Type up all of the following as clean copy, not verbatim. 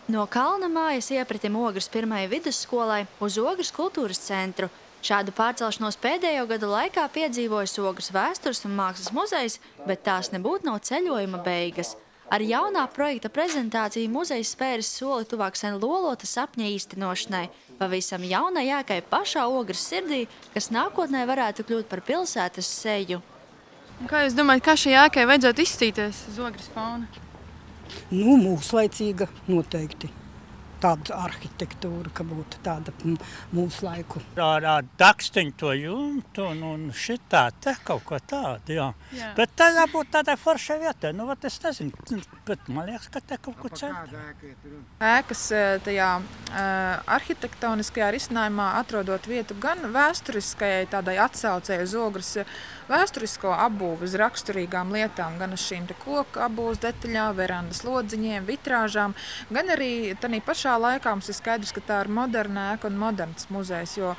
No Kalna mājas iepratim Ogres pirmajai vidusskolai uz Ogres kultūras centru. Šādu pārcelšanos pēdējo gadu laikā piedzīvojas Ogres vēstures un mākslas muzejs, bet tās nebūtu nav ceļojuma beigas. Ar jaunā projekta prezentāciju muzejs spēris soli tuvāk sen lolota sapņa īstenošanai, pavisam jaunai ēkai pašā Ogres sirdī, kas nākotnē varētu kļūt par pilsētas seju. Kā jūs domājat, kā šai ēkai vajadzētu izstīties uz Ogres fona? Nu, mūslaicīga noteikti. Tāda arhitektūra, ka būtu tāda mūsu laiku. Ar dakstiņu to jumtu un šitā, te kaut ko tādu, jā. Bet tā jābūt tādai foršai vietai. Nu, vat es nezinu, bet man liekas, ka te kaut ko centrā. Ēkas tajā arhitektoniskajā risinājumā atrodot vietu gan vēsturiskajai tādai atsaucēji uz Ogres vēsturisko apbūvi uz raksturīgām lietām, gan uz šīm te koku apbūves detaļām, verandas lodziņiem, vitrāžām, gan arī tanī pašā laikā mums ir skaidrs, ka tā ir moderna ēka un moderns muzejs, jo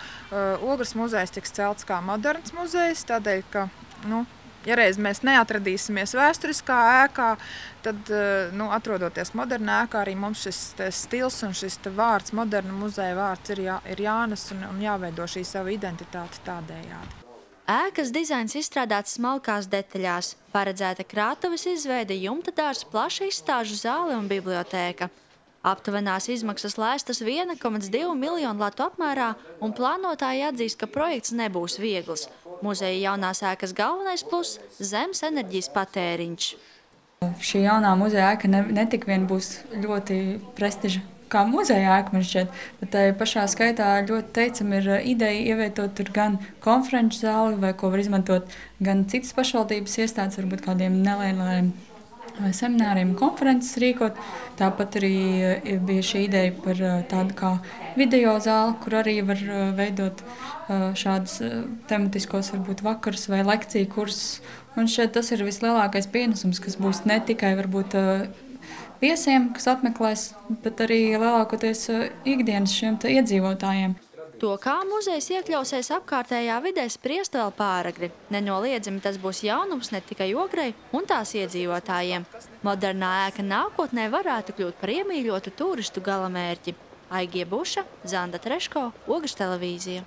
Ogres muzejs tiks celts kā moderns muzejs, tādēļ, ka, ja reiz mēs neatradīsimies vēsturiskā ēkā, tad, atrodoties modernā ēkā, arī mums šis stils un šis vārds, moderna muzeja vārds ir jānes un jāveido šī sava identitāte tādējādi. Ēkas dizains izstrādāts smalkās detaļās, paredzēta krātuves izveide, jumta dārs, plaša izstāžu zāle un bibliotēka. Aptuvenās izmaksas lēstas 1,2 miljonu latu apmērā, un plānotāji atzīst, ka projekts nebūs viegls. Muzeja jaunās ēkas galvenais pluss – zemes enerģijas patēriņš. Šī jaunā muzeja ēka netik vien būs ļoti prestiža kā muzeja ēka, man šķiet, bet tai pašā skaitā ļoti teicam ir ideja ievietot tur gan konferenču zāli, vai ko var izmantot gan citas pašvaldības iestādes, varbūt kādiem nelieliem semināriem, konferences rīkot. Tāpat arī bija šī ideja par tādu kā video zāli, kur arī var veidot šādus tematiskos varbūt vakarus vai lekciju kursus. Un šeit tas ir vislielākais pienesums, kas būs ne tikai varbūt viesiem, kas apmeklēs, bet arī lielākoties ikdienas šiem iedzīvotājiem. To, kā muzejs iekļausies apkārtējā vidē, spriest vēl pāragri. Nenoliedzami tas būs jaunums ne tikai Ogrei un tās iedzīvotājiem. Modernā ēka nākotnē varētu kļūt par iemīļotu turistu galamērķi. Aigie Buša, Zanda Treško, Ogres televīzija.